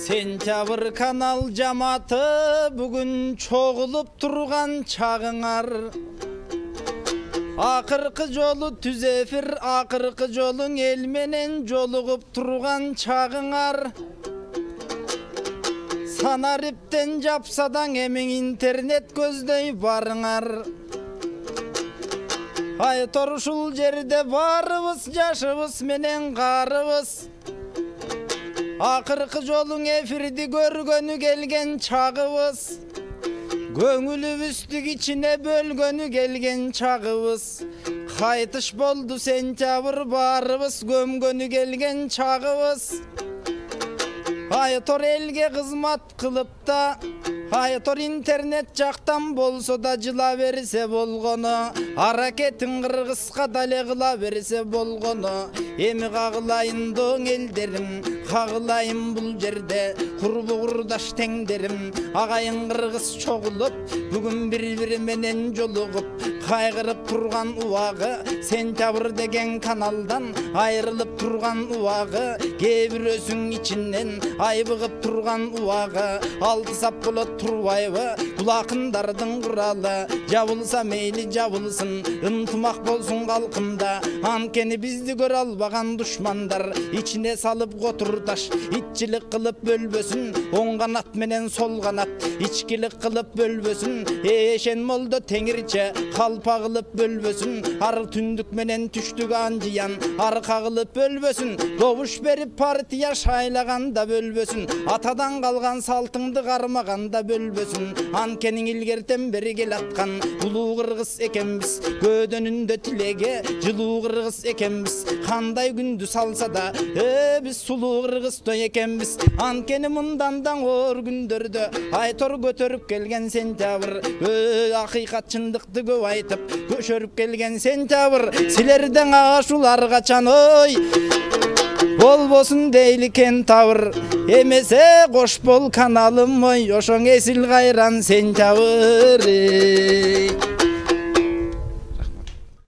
Сентябрь канал жамааты бүгүн чогулуп турган чагыңар. Акыркы жолу түз эфир, акыркы жолуң эл менен жолугуп турган чагыңар. Санариптен жапсадаң эмең интернет көздөй барыңар. Айтор ушул жерде барыбыз, жашыбыз менен карыбыз. Акыркы жолуң эфирди көргөнү келген чагыбыз. Көңүлүбүздү кичине бөлгөнү келген чагыбыз. Кайтыш болду сентябрь, барыбыз көмгөнү келген чагыбыз. Айтор элге кызмат кылып да, айтор интернет жактан болсо да жыла берсе болгону, аракетин кыргызга дале кыла берсе болгону. Эми кагылайын доң элдерим, кагылайын бул жерде курбу курдаш теңдерим. Агайын кыргыз чогулуп, бүгүн бири-бири менен жолугуп, кайгырып турган убагы, сентябрь деген каналдан айрылып турган убагы, кээ бирөөсүң ичинен айбыгып турган убагы. Алты сап болот турбайбы бул акындардын куралы, жабылса мейли жабылсын, ынтымак болсун калкымда. Анткени бизди көрө албаган душмандар ичине салып котурташ, итчилик кылып бөлбөсүн, оң канат менен сол канат ичкилик кылып бөлбөсүн. Эшен молдо теңирче калпа кылып бөлбөсүн, ар түндүк менен түштүк анжыян арка кылып бөлбөсүн. Добуш берип партия шайлаганда бөлбөсүн, атадан калган салтыңды кармаганда бөлбөсүн. Анткени илгертен бери келаткан улуу кыргыз экенбиз, көөдөнүндө тилеге жылуу кыргыз экенбиз. Кандай күндү салса да биз сулуу кыргыздай экенбиз. Анткени мындан да оор күндөрдө айтор көтөрүп келген сентябрь, акыйкат чындыкты көп айтып көшөрүп келген сентябрь. Силерден ашул ар качан ой болбосун дейли кентавр. Эмесе кош бол каналым ой, ошоң эсил кайран сентябрь.